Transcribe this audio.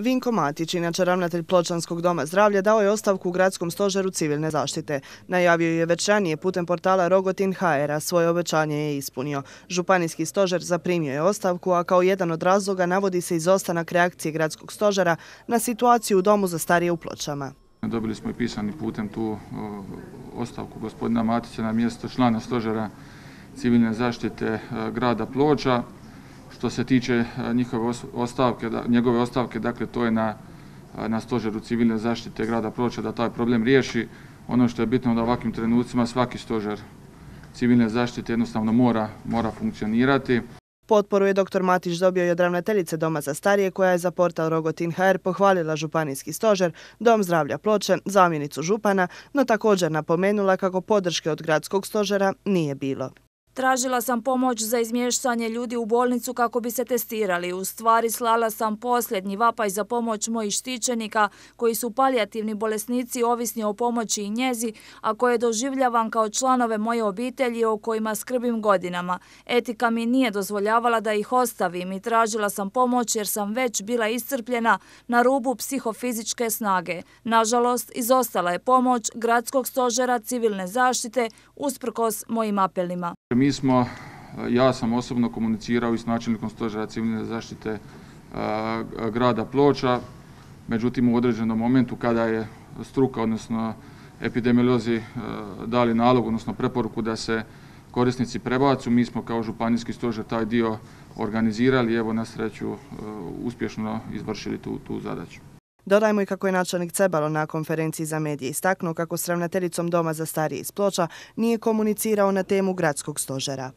Vinko Matić, inače ravnatelj Pločanskog doma zdravlja, dao je ostavku u gradskom stožeru civilne zaštite. Najavio je već ranije putem portala Rogotin.hr, a svoje obećanje je ispunio. Županijski stožer zaprimio je ostavku, a kao jedan od razloga navodi se izostanak reakcije gradskog stožera na situaciju u domu za starije u Pločama. Dobili smo i pisani putem tu ostavku gospodina Matića na mjesto člana stožera civilne zaštite grada Ploča. Što se tiče njegove ostavke, dakle to je na stožeru civilne zaštite grada Ploča da taj problem riješi. Ono što je bitno da u ovakvim trenucima svaki stožer civilne zaštite jednostavno mora funkcionirati. Potporu je dr. Matić dobio i od ravnateljice Doma za starije, koja je za portal Rogotin.hr pohvalila županijski stožer, Dom zdravlja Ploče, zamjenicu župana, no također napomenula kako podrške od gradskog stožera nije bilo. Tražila sam pomoć za izmještanje ljudi u bolnicu kako bi se testirali. U stvari slala sam posljednji vapaj za pomoć mojih štićenika koji su palijativni bolesnici ovisni o pomoći i njezi, a koje doživljavam kao članove moje obitelji o kojima skrbim godinama. Etika mi nije dozvoljavala da ih ostavim i tražila sam pomoć jer sam već bila iscrpljena na rubu psihofizičke snage. Nažalost, izostala je pomoć gradskog stožera civilne zaštite usprkos mojim apelima. Ja sam osobno komunicirao i s načelnikom stožera civilne zaštite grada Ploča, međutim u određenom momentu kada je struka, odnosno epidemiolozi dali nalog, odnosno preporuku da se korisnici prebacu, mi smo kao županijski stožer taj dio organizirali i evo na sreću uspješno izvršili tu zadaću. Dodajmo i kako je načelnik Cebalo na konferenciji za medije istaknuo kako s ravnateljicom Doma za starije iz Ploča nije komunicirao na temu gradskog stožera.